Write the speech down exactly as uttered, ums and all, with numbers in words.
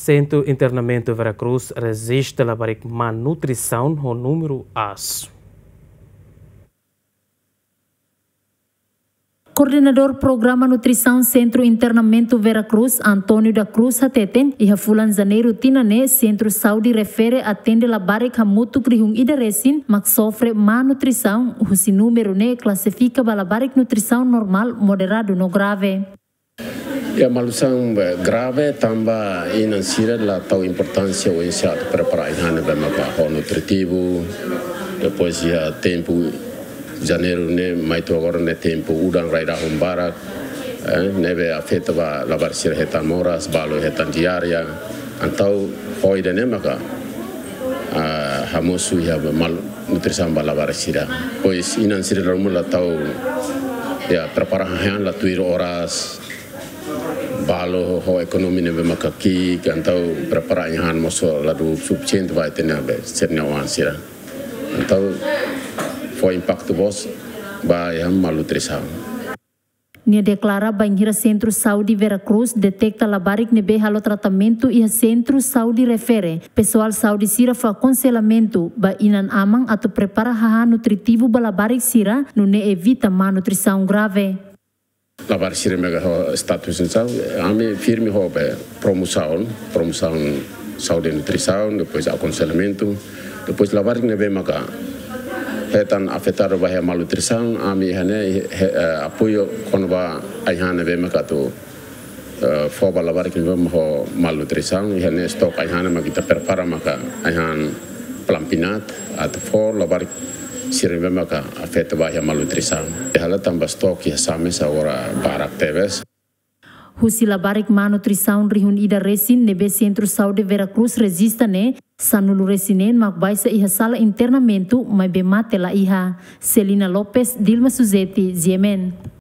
Sentru Internamentu Vera Cruz rejista labarik má nutrisaun ho númeru aas. Koordenadór Programa Nutrisaun Sentru Internamentu Vera Cruz, António da Cruz, hateten, iha fulan Janeiru tinan ne'e, Sentru Saúde Refere atende labarik hamutuk rihun ida resin mak sofre má nutrisaun, husi númeru ne'e klasifika ba labarik nutrisaun normál, moderadu no grave. Iha má nutrisaun, eh, grave tanba inan sira la tau importánsia oinsá atu prepara ai-han ne'ebé maka ho nutritivu. Depois iha tempu Janeiru ne'e mai to'o agora ne'e tempu udan rai-rahun barak, eh, ne'ebé afeta ba labarik sira hetan moras, balu hetan diarreia. Entaun ho ida-ne'e maka, ah, hamosu iha malnutrisaun ba labarik sira. Pois inan sira la ruma la tau, ya, prepara ai-han la tuir oras, balu ho ekonomia ne'ebé maka ki'ik, entaun prepara ai-han mós la dún sufisiente ba ita-nia be, sira-nia oan sira. Entaun fó impaktu boot ba iha malnutrisaun. Nia deklara bainhira Sentru Saúde Vera Cruz deteta labarik ne'ebé halo tratamentu iha Sentru Saúde Refere, pesoál saúde sira fó akonselhamentu ba inan-aman atu prepara hahán nutritivu ba labarik sira, nune'e evita malnutrisaun grave. Labarik sira ne'ebé ho status nutrisaun, ami firme ho be promosaun, promosaun saúde nutrisaun, depois akonselhamentu, depois labarik ne'ebé maka hetan afetadu ba iha malnutrisaun, ami iha ne'e, he, eh, apoiu kona-ba ai-han ne'ebé maka atu, eh, fó ba labarik ne'ebé ho malnutrisaun, iha ne'e stok ai-han maka ita prepara maka ai-han Plumpy'Nut, atu fó labarik sira ne'ebé maka afeta ba iha malnutrisaun. Iha la tanba stok iha Same agora barak tebes. Husi labarik má nutrisaun rihun ida resin ne'ebé Sentru Saúde Vera Cruz rejista ne'e, sanulu resin neen mak baixa iha sala internamentu, maibé mate la iha. Celina Lopes, Dilma Suzeti, G M N.